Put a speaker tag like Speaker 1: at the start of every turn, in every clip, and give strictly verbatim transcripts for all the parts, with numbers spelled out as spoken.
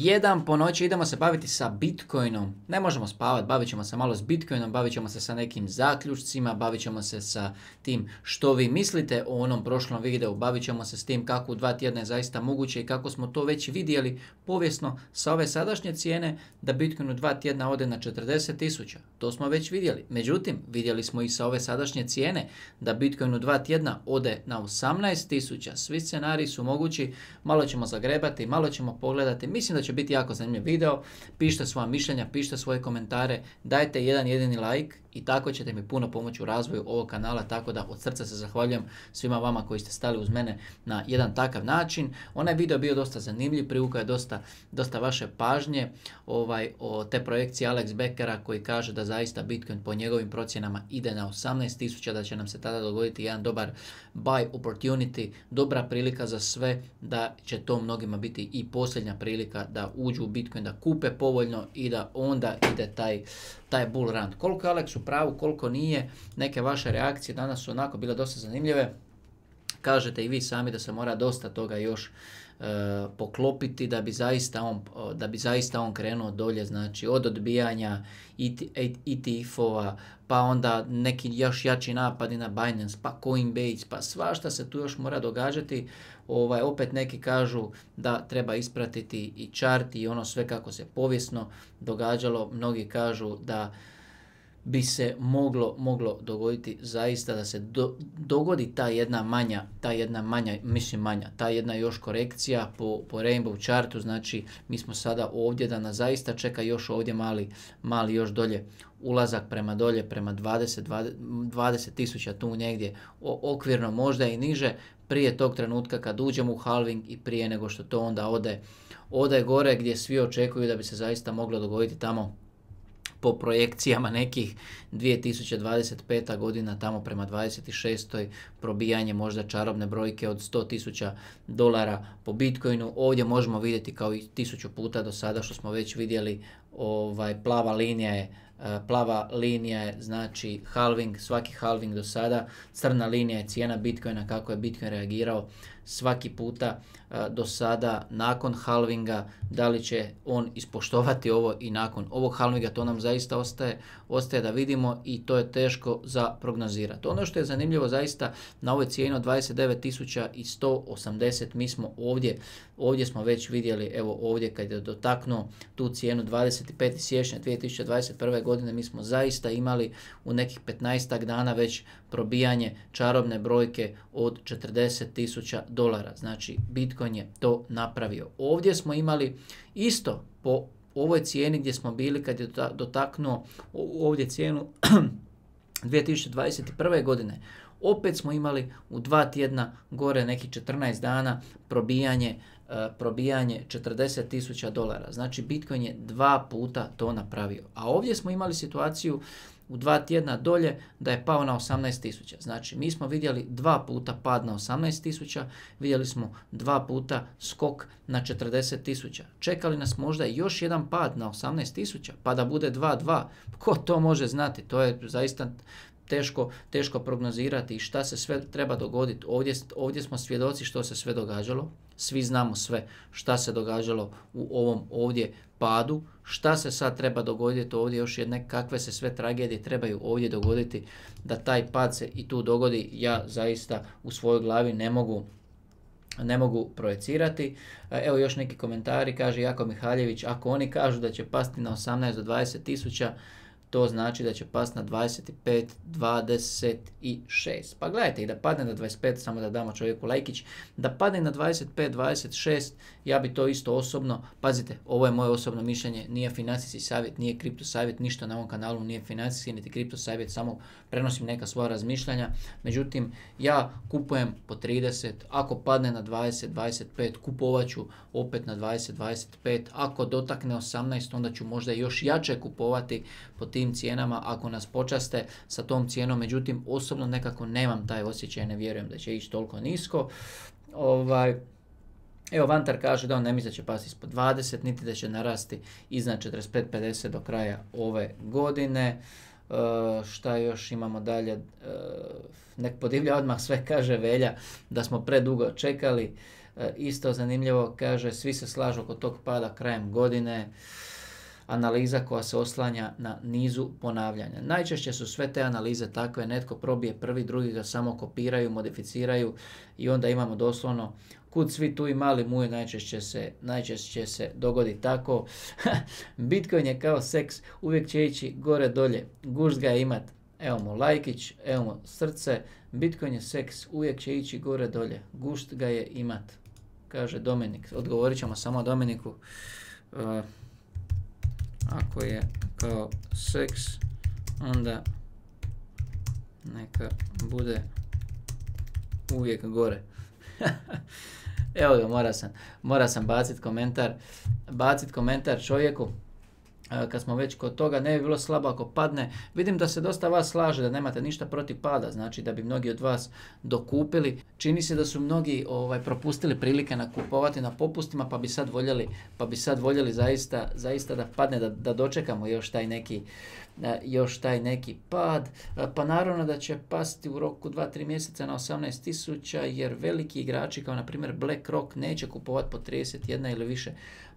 Speaker 1: jedan po noći idemo se baviti sa Bitcoinom. Ne možemo spavati, bavit ćemo se malo s Bitcoinom, bavit ćemo se sa nekim zaključcima, bavit ćemo se sa tim što vi mislite o onom prošlom videu, bavit ćemo se s tim kako u dva tjedna je zaista moguće i kako smo to već vidjeli povijesno sa ove sadašnje cijene da Bitcoin u dva tjedna ode na četrdeset tisuća. To smo već vidjeli. Međutim, vidjeli smo i sa ove sadašnje cijene da Bitcoin u dva tjedna ode na osamnaest tisuća. Svi scenariji su mogući, malo ćemo zagrebati, malo ćemo pogledati. Mislim da će biti jako zanimljiv video. Pišite svoja mišljenja, pišite svoje komentare, dajte jedan jedini like i tako ćete mi puno pomoći u razvoju ovog kanala, tako da od srca se zahvaljujem svima vama koji ste stali uz mene na jedan takav način. Onaj video je bio dosta zanimljiv, privukao je dosta, dosta vaše pažnje ovaj, o te projekcije Alex Beckera koji kaže da zaista Bitcoin po njegovim procjenama ide na osamnaest tisuća, da će nam se tada dogoditi jedan dobar buy opportunity, dobra prilika za sve, da će to mnogima biti i posljednja prilika da uđu u Bitcoin, da kupe povoljno i da onda ide taj, taj bull run. Koliko je Alex u pravu, koliko nije, neke vaše reakcije danas su onako bile dosta zanimljive. Kažete i vi sami da se mora dosta toga još e, poklopiti da bi zaista on, da bi zaista on krenuo dolje, znači od odbijanja E T F-ova, pa onda neki još jači napadi na Binance, pa Coinbase, pa svašta se tu još mora događati. Ovaj, opet neki kažu da treba ispratiti i chart i ono sve kako se povijesno događalo. Mnogi kažu da bi se moglo, moglo dogoditi zaista da se do, dogodi ta jedna manja, ta jedna manja, mislim manja, ta jedna još korekcija po, po Rainbow chartu, znači mi smo sada ovdje da nas zaista čeka još ovdje mali, mali još dolje ulazak prema dolje, prema dvadeset tisuća tu negdje, o, okvirno možda i niže, prije tog trenutka kad uđemo u halving i prije nego što to onda ode, ode gore gdje svi očekuju da bi se zaista moglo dogoditi tamo po projekcijama nekih dvije tisuće dvadeset peta godina tamo prema dvadeset šestoj probijanje možda čarobne brojke od sto tisuća dolara po Bitcoinu. Ovdje možemo vidjeti kao i tisuću puta do sada što smo već vidjeli, ovaj, plava linija je plava linija je znači halving, svaki halving do sada, crna linija je cijena Bitcoina, kako je Bitcoin reagirao svaki puta uh, do sada nakon halvinga, da li će on ispoštovati ovo i nakon ovog halvinga, to nam zaista ostaje, ostaje da vidimo i to je teško za prognozirati. Ono što je zanimljivo zaista na ovoj cijeni od dvadeset devet tisuća sto osamdeset, mi smo ovdje, ovdje smo već vidjeli, evo ovdje kad je dotaknuo tu cijenu dvadeset petog siječnja dvije tisuće dvadeset prve godine, mi smo zaista imali u nekih petnaestak dana već probijanje čarobne brojke od četrdeset tisuća dolara. Znači Bitcoin je to napravio. Ovdje smo imali isto po ovoj cijeni gdje smo bili kad je dotaknuo ovdje cijenu dvije tisuće dvadeset prve godine. Opet smo imali u dva tjedna gore nekih četrnaest dana probijanje, uh, probijanje četrdeset tisuća dolara. Znači Bitcoin je dva puta to napravio. A ovdje smo imali situaciju u dva tjedna dolje da je pao na osamnaest tisuća. Znači mi smo vidjeli dva puta pad na osamnaest tisuća, vidjeli smo dva puta skok na četrdeset tisuća. Čekali nas možda još jedan pad na osamnaest tisuća pa da bude dva dva. Ko to može znati? To je zaista teško, teško prognozirati i šta se sve treba dogoditi. Ovdje, ovdje smo svjedoci što se sve događalo. Svi znamo sve šta se događalo u ovom ovdje padu. Šta se sad treba dogoditi ovdje, još jedne kakve se sve tragedije trebaju ovdje dogoditi da taj pad se i tu dogodi. Ja zaista u svojoj glavi ne mogu ne mogu projecirati. Evo još neki komentari, kaže Jako Mihaljević, ako oni kažu da će pasti na osamnaest do dvadeset tisuća, to znači da će pasti na dvadeset pet, dvadeset šest. Pa gledajte, i da padne na dvadeset pet, samo da damo čovjeku lajkić, da padne na dvadeset pet, dvadeset šest, ja bi to isto osobno, pazite, ovo je moje osobno mišljenje, nije financijski savjet, nije kripto savjet, ništa na ovom kanalu nije financijski, niti kripto savjet, samo prenosim neka svoja razmišljanja. Međutim, ja kupujem po trideset, ako padne na dvadeset, dvadeset pet, kupovat ću opet na dvadeset, dvadeset pet, ako dotakne osamnaest, onda ću možda još jače kupovati po tim cijenama ako nas počaste sa tom cijenom. Međutim, osobno nekako nemam taj osjećaj, ne vjerujem da će ići toliko nisko. Ovaj, evo Vantar kaže da on ne misli da će pasti ispod dvadeset, niti da će narasti iznad četrdeset pet pedeset do kraja ove godine. Uh, šta još imamo dalje? Uh, nek podivlja odmah sve, kaže Velja, da smo predugo čekali. isto zanimljivo, kaže, svi se slažu oko tog pada krajem godine. Analiza koja se oslanja na nizu ponavljanja. Najčešće su sve te analize takve, netko probije prvi, drugi ga samo kopiraju, modificiraju i onda imamo doslovno kud svi tu i mali muj, najčešće se, najčešće se dogodi tako. Bitcoin je kao seks, uvijek će ići gore dolje, gušt ga je imat. Evo mu lajkić, evo mu srce, Bitcoin je seks, uvijek će ići gore dolje, gušt ga je imat, kaže Dominik. Odgovorit ćemo samo Dominiku. Uh, Ako je kao seks, onda neka bude uvijek gore. Evo ga, mora sam, mora sam baciti komentar, bacit komentar čovjeku. Kad smo već kod toga, ne bi bilo slabo ako padne. Vidim da se dosta vas slaže da nemate ništa protiv pada, znači da bi mnogi od vas dokupili. Čini se da su mnogi ovaj, propustili prilike nakupovati na popustima, pa bi sad voljeli, pa bi sad voljeli zaista, zaista da padne, da, da dočekamo još taj neki još taj neki pad, pa naravno da će pasti u roku dva do tri mjeseca na osamnaest tisuća, jer veliki igrači kao na primjer BlackRock neće kupovati po trideset jedan ili više.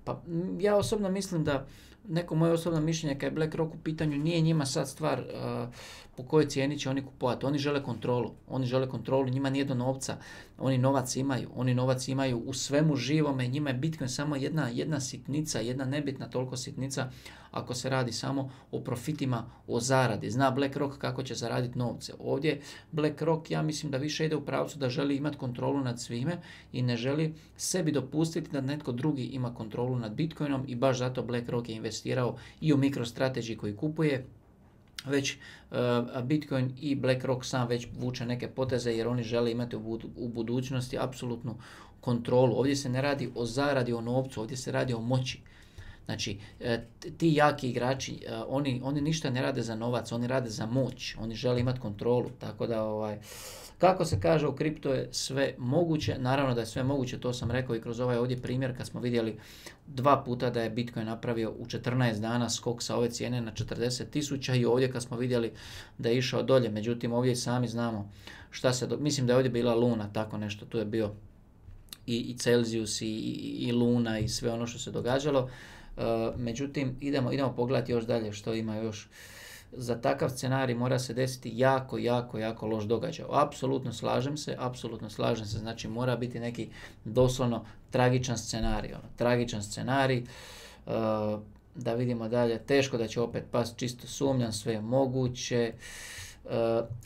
Speaker 1: Pa ja osobno mislim da neko moje osobno mišljenje kad je BlackRock u pitanju, nije njima sad stvar uh, po kojoj cijeni će oni kupovati. Oni žele kontrolu. Oni žele kontrolu, njima nije do novca. Oni novac imaju. Oni novac imaju u svemu živome. Njima je Bitcoin samo jedna, jedna sitnica, jedna nebitna toliko sitnica ako se radi samo o profitima, o zaradi. Zna BlackRock kako će zaraditi novce. Ovdje BlackRock, ja mislim da više ide u pravcu da želi imati kontrolu nad svime i ne želi sebi dopustiti da netko drugi ima kontrolu nad Bitcoinom i baš zato BlackRock je investirao i u MicroStrategy koji kupuje. Već uh, Bitcoin i BlackRock sam već vuče neke poteze jer oni žele imati u, bud- u budućnosti apsolutnu kontrolu. Ovdje se ne radi o zaradi, o novcu, ovdje se radi o moći. Znači, ti jaki igrači, oni, oni ništa ne rade za novac, oni rade za moć, oni žele imati kontrolu, tako da, ovaj, kako se kaže, u kripto je sve moguće, naravno da je sve moguće, to sam rekao i kroz ovaj ovdje primjer kad smo vidjeli dva puta da je Bitcoin napravio u četrnaest dana skok sa ove cijene na četrdeset tisuća i ovdje kad smo vidjeli da je išao dolje, međutim ovdje sami znamo šta se, do... mislim da je ovdje bila Luna, tako nešto, tu je bio i, i Celsius i, i, i Luna i sve ono što se događalo. Uh, međutim, idemo, idemo pogledati još dalje što ima još. Za takav scenarij mora se desiti jako, jako, jako loš događaj. Apsolutno slažem se, apsolutno slažem se, znači mora biti neki doslovno tragičan scenarij. Ono, tragičan scenarij, uh, da vidimo dalje, teško da će opet past, čisto sumnjam, sve je moguće. Uh,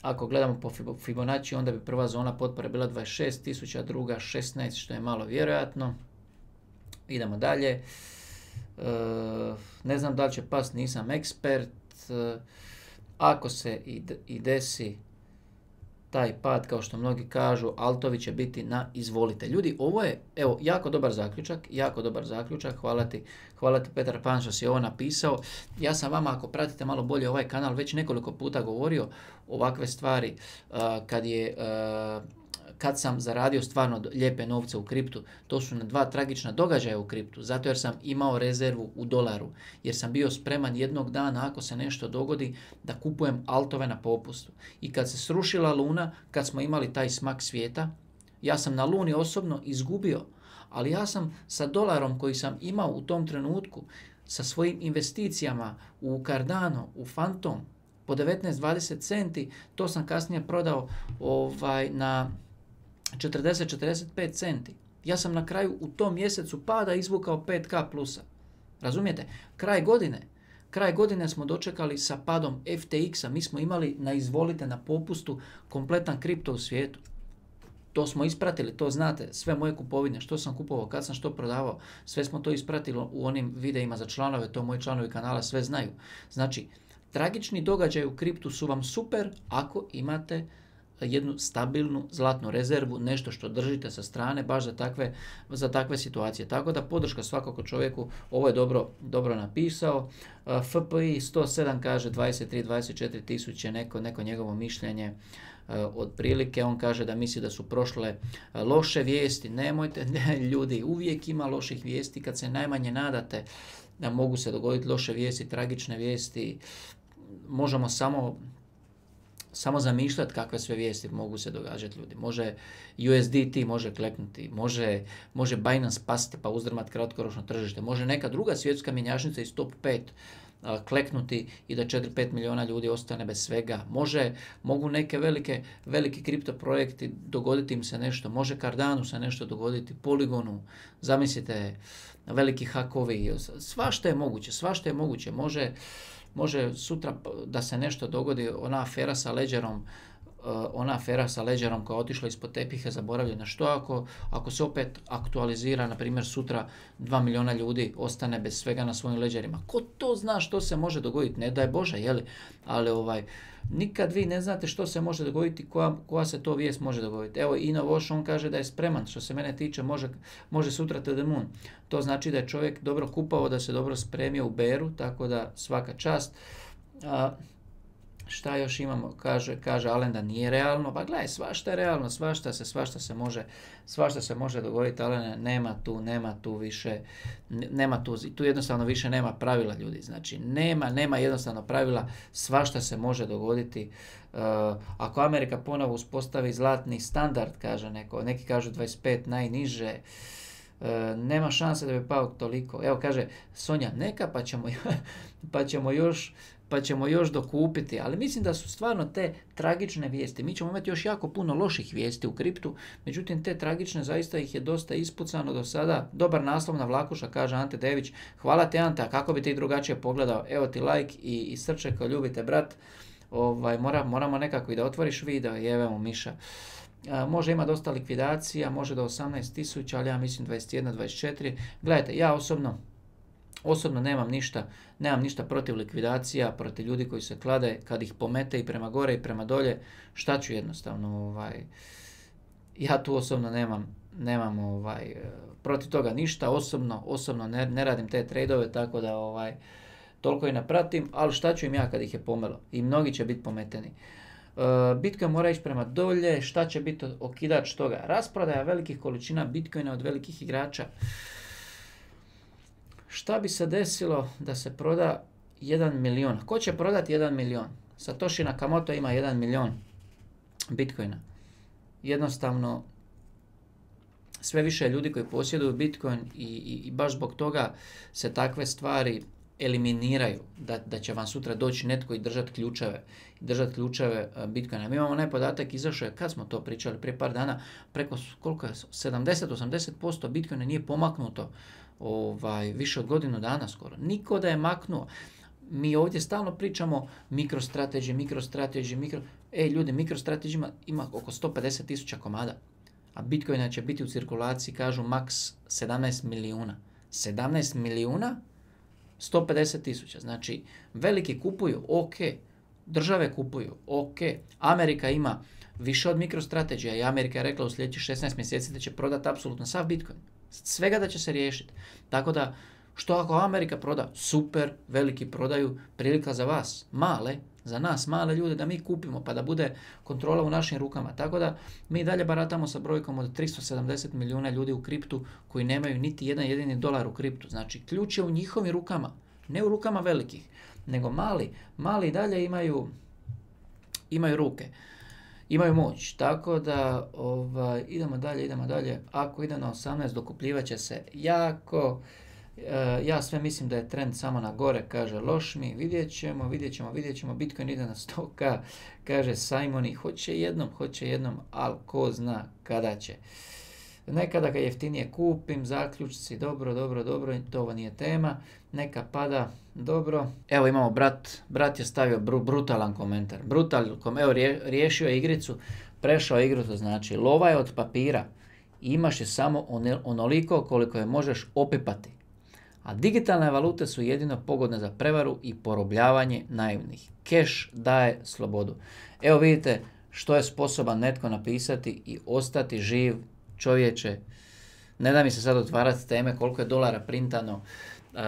Speaker 1: ako gledamo po Fibonacci, onda bi prva zona potpore bila dvadeset šest tisuća, druga šesnaest, što je malo vjerojatno. Idemo dalje. Uh, ne znam da li će past, nisam ekspert. Uh, ako se i, d- i desi taj pad, kao što mnogi kažu, altovi će biti na izvolite. Ljudi, ovo je, evo, jako dobar zaključak, jako dobar zaključak, hvala ti, hvala ti Petar Pan što si ovo napisao. Ja sam vama, ako pratite malo bolje ovaj kanal, već nekoliko puta govorio ovakve stvari, uh, kad je... Uh, kad sam zaradio stvarno lijepe novce u kriptu, to su na dva tragična događaja u kriptu, zato jer sam imao rezervu u dolaru, jer sam bio spreman jednog dana, ako se nešto dogodi, da kupujem altove na popustu. I kad se srušila Luna, kad smo imali taj smak svijeta, ja sam na Luni osobno izgubio, ali ja sam sa dolarom koji sam imao u tom trenutku, sa svojim investicijama u Cardano, u Phantom, po devetnaest do dvadeset centi, to sam kasnije prodao ovaj, na četrdeset do četrdeset pet centi. Ja sam na kraju u tom mjesecu pada izvukao pet ka plusa. Razumijete? Kraj godine. Kraj godine smo dočekali sa padom F T X-a. Mi smo imali na izvolite na popustu kompletan kripto u svijetu. To smo ispratili, to znate, sve moje kupovine, što sam kupovao, kad sam što prodavao, sve smo to ispratili u onim videima za članove, to moji članovi kanala sve znaju. Znači, tragični događaj u kriptu su vam super ako imate jednu stabilnu zlatnu rezervu, nešto što držite sa strane baš za takve, za takve situacije. Tako da podrška svakako čovjeku, ovo je dobro, dobro napisao. F P I sto sedam kaže dvadeset tri do dvadeset četiri tisuće, neko, neko njegovo mišljenje otprilike. On kaže da misli da su prošle loše vijesti. Nemojte, ne, ljudi, uvijek ima loših vijesti kad se najmanje nadate da mogu se dogoditi loše vijesti, tragične vijesti. Možemo samo samo zamišljati kakve sve vijesti mogu se događati ljudi. Može U S D T može kleknuti, može, može Binance pasti pa uzdrmati kratkoročno tržište, može neka druga svjetska mjenjačnica iz top pet a, kleknuti i da četiri do pet milijuna ljudi ostane bez svega. Može, mogu neke velike, veliki kripto projekti dogoditi im se nešto, može Cardanu se nešto dogoditi, Polygonu, zamislite, veliki hakovi, svašta je moguće, svašta je moguće, može Može sutra da se nešto dogodi, ona afera sa Ledgerom, ona afera sa Ledgerom koja je otišla ispod tepiha, zaboravljena. Što ako, ako se opet aktualizira, na primjer sutra dva milijuna ljudi ostane bez svega na svojim Ledgerima? Ko to zna što se može dogoditi? Ne daj Bože, jeli? Ali ovaj, nikad vi ne znate što se može dogoditi, koja, koja se to vijest može dogoditi. Evo, Ino Voš, on kaže da je spreman, što se mene tiče, može, može sutra to the moon. To znači da je čovjek dobro kupao, da se dobro spremio u beru, tako da svaka čast. A, šta još imamo? Kaže, kaže Alen da nije realno. Pa gledaj, svašta je realno, svašta se, svašta se može, svašta se može dogoditi, Alene, nema tu, nema tu više, nema tu, tu jednostavno više nema pravila ljudi. Znači, nema, nema jednostavno pravila, svašta se može dogoditi. Uh, ako Amerika ponovo uspostavi zlatni standard, kaže neko, neki kažu dvadeset pet najniže, uh, nema šanse da bi pao toliko. Evo kaže Sonja, neka pa ćemo, pa ćemo još pa ćemo još dokupiti, ali mislim da su stvarno te tragične vijesti. Mi ćemo imati još jako puno loših vijesti u kriptu, međutim te tragične zaista ih je dosta ispucano do sada. Dobar naslov na Vlakuša, kaže Ante Dević. Hvala te Ante, a kako bi ti drugačije pogledao? Evo ti like i, i srče ko ljubite brat. Ovaj, mora, moramo nekako i da otvoriš video i evo Miša. A, može ima dosta likvidacija, može do osamnaest tisuća, ali ja mislim dvadeset jedan dvadeset četiri. Gledajte, ja osobno Osobno nemam ništa, nemam ništa protiv likvidacija, protiv ljudi koji se klade, kad ih pomete i prema gore i prema dolje, šta ću jednostavno, ovaj, ja tu osobno nemam, nemam ovaj, protiv toga ništa, osobno, osobno ne, ne radim te trade-ove, tako da ovaj, toliko i ne pratim, ali šta ću im ja kad ih je pomelo i mnogi će biti pometeni. Bitcoin mora ići prema dolje, šta će biti okidač toga? Rasprodaja velikih količina Bitcoina od velikih igrača. Šta bi se desilo da se proda jedan milion? Ko će prodati jedan milion? Satoshi Nakamoto ima jedan milion Bitcoina. Jednostavno, sve više ljudi koji posjeduju Bitcoin i, i, i baš zbog toga se takve stvari eliminiraju. Da, da će vam sutra doći netko i držati ključeve, držati ključeve Bitcoina. Mi imamo onaj podatak, izašao je, kad smo to pričali, prije par dana, preko koliko je, sedamdeset do osamdeset posto Bitcoina nije pomaknuto ovaj, više od godinu dana skoro. Niko da je maknuo. Mi ovdje stalno pričamo MicroStrategy, MicroStrategy, mikro... Ej ljudi, MicroStrategy ima, ima oko sto pedeset tisuća komada, a Bitcoina će biti u cirkulaciji, kažu, maks sedamnaest milijuna. sedamnaest milijuna, sto pedeset tisuća. Znači, veliki kupuju, ok. Države kupuju, ok. Amerika ima više od MicroStrategy i Amerika je rekla u sljedećih šesnaest mjeseci da će prodati apsolutno sav Bitcoin. Svega da će se riješiti. Tako da, što ako Amerika proda? Super, veliki prodaju, prilika za vas, male, za nas, male ljude, da mi kupimo, pa da bude kontrola u našim rukama. Tako da, mi dalje baratamo sa brojkom od tristo sedamdeset milijuna ljudi u kriptu koji nemaju niti jedan jedini dolar u kriptu. Znači, ključ je u njihovim rukama, ne u rukama velikih, nego mali. Mali dalje imaju, imaju ruke. Imaju moć, tako da ovaj, idemo dalje, idemo dalje. Ako ide na osamnaest, dokupljivat će se jako. E, ja sve mislim da je trend samo na gore, kaže Lošmi. Vidjet ćemo, vidjet ćemo, vidjet ćemo. Bitcoin ide na sto ka, kaže Simoni. Hoće jednom, hoće jednom, ali ko zna kada će. Nekada ga jeftinije kupim, zaključci, dobro, dobro, dobro, to ovo nije tema. Neka pada, dobro. Evo imamo brat, brat je stavio br- brutalan komentar. Brutal, evo rije, riješio je igricu, prešao igru, to znači lova je od papira. Imaš je samo on, onoliko koliko je možeš opipati. A digitalne valute su jedino pogodne za prevaru i porobljavanje naivnih. Keš daje slobodu. Evo vidite što je sposoban netko napisati i ostati živ. Čovječe, ne da mi se sad otvarati teme koliko je dolara printano uh,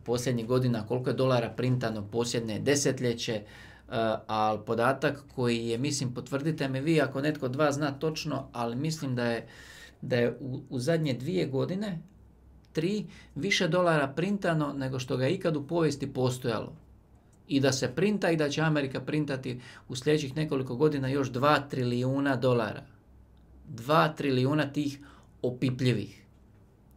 Speaker 1: posljednjih godina, koliko je dolara printano posljednje desetljeće, uh, ali podatak koji je, mislim, potvrdite me vi ako netko od vas zna točno, ali mislim da je, da je u, u zadnje dvije godine, tri, više dolara printano nego što ga je ikad u povijesti postojalo. i da se printa i da će Amerika printati u sljedećih nekoliko godina još dva trilijuna dolara. dva trilijuna tih opipljivih.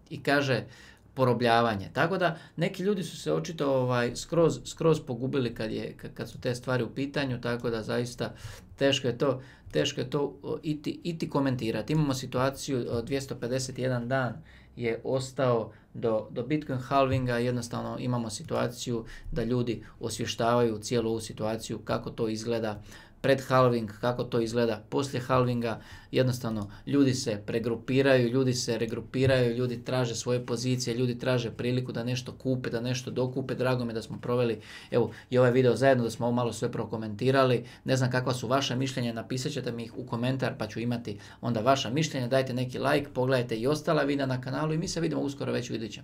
Speaker 1: I kaže porobljavanje. Tako da neki ljudi su se očito ovaj, skroz, skroz pogubili kad, je, kad su te stvari u pitanju, tako da zaista teško je to, teško je to iti, iti komentirati. Imamo situaciju dvjesto pedeset jedan dan je ostao do, do Bitcoin halvinga, jednostavno imamo situaciju da ljudi osvještavaju cijelu ovu situaciju, kako to izgleda pred halving, kako to izgleda poslije halvinga, jednostavno ljudi se pregrupiraju, ljudi se regrupiraju, ljudi traže svoje pozicije, ljudi traže priliku da nešto kupe, da nešto dokupe. Drago mi je da smo proveli evo i ovaj video zajedno, da smo ovo malo sve prokomentirali. Ne znam kakva su vaša mišljenja, napisat ćete mi ih u komentar pa ću imati onda vaša mišljenja. Dajte neki like, pogledajte i ostala videa na kanalu i mi se vidimo uskoro već u idućem.